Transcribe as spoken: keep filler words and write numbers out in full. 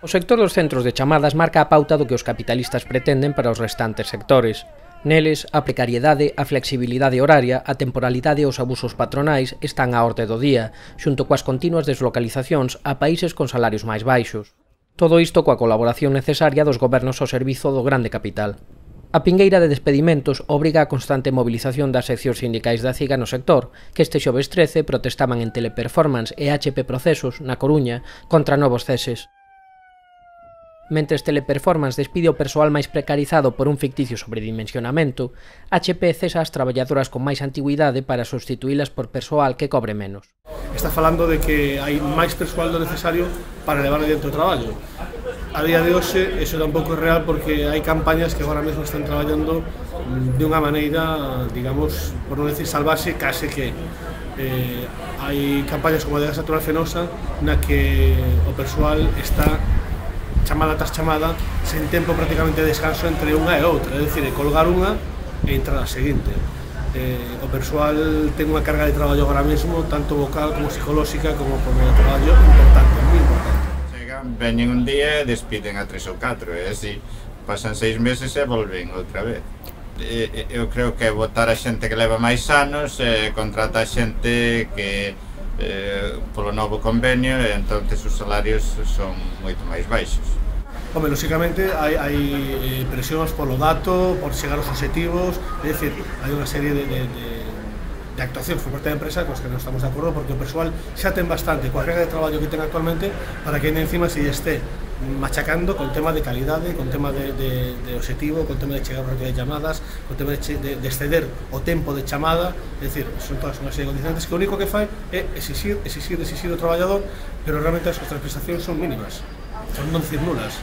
O sector dos centros de chamadas marca a pauta do que os capitalistas pretenden para os restantes sectores. Neles, a precariedade, a flexibilidade horaria, a temporalidade e os abusos patronais están á orde do día, xunto coas continuas deslocalizacións a países con salarios máis baixos. Todo isto coa colaboración necesaria dos gobernos ao servizo do grande capital. A pingueira de despedimentos obriga a constante movilización das seccións sindicais da CIGA no sector, que este xoves trece protestaban en Teleperformance e H P Procesos, na Coruña, contra novos ceses. Mentres Teleperformance despide o persoal máis precarizado por un ficticio sobredimensionamento, H P cesa as traballadoras con máis antigüidade para substituílas por persoal que cobre menos. Está falando de que hai máis persoal do necesario para levar adiante o traballo. A día de hoxe, eso tampouco é real porque hai campañas que agora mesmo están traballando de unha maneira, digamos, por non decir salvaxe, case que eh, hai campañas como a de Gas Natural Fenosa na que o persoal está chamada tras chamada, sen tempo prácticamente de descanso entre unha e outra, é dicir, colgar unha e entrar a seguinte. Eh, o persoal ten unha carga de traballo agora mesmo, tanto vocal como psicolóxica, como por medio de traballo, importante, moi importante. Chegan, veñen un día e despiden a tres ou catro, e así pasan seis meses e volven outra vez. E, eu creo que botar a xente que leva máis anos, e contrata a xente que Eh, polo novo convenio, e entonces os salarios son moito máis baixos. Home, lóxicamente hai, hai presións polo dato, por chegar aos objetivos, é dicir, hai unha serie de, de, de, de actuacións por parte da empresa cos que non estamos de acordo, porque o persoal xa ten bastante coa carga de traballo que ten actualmente para que encima se este machacando con tema de calidade, con tema de, de, de objetivo, con tema de chegar rápido de llamadas, con tema de, de, de exceder o tempo de chamada, é dicir, son todas unha serie de condicionantes que o único que fai é exixir, exixir, exixir o traballador, pero realmente as súas prestacións son mínimas, son non decir nulas.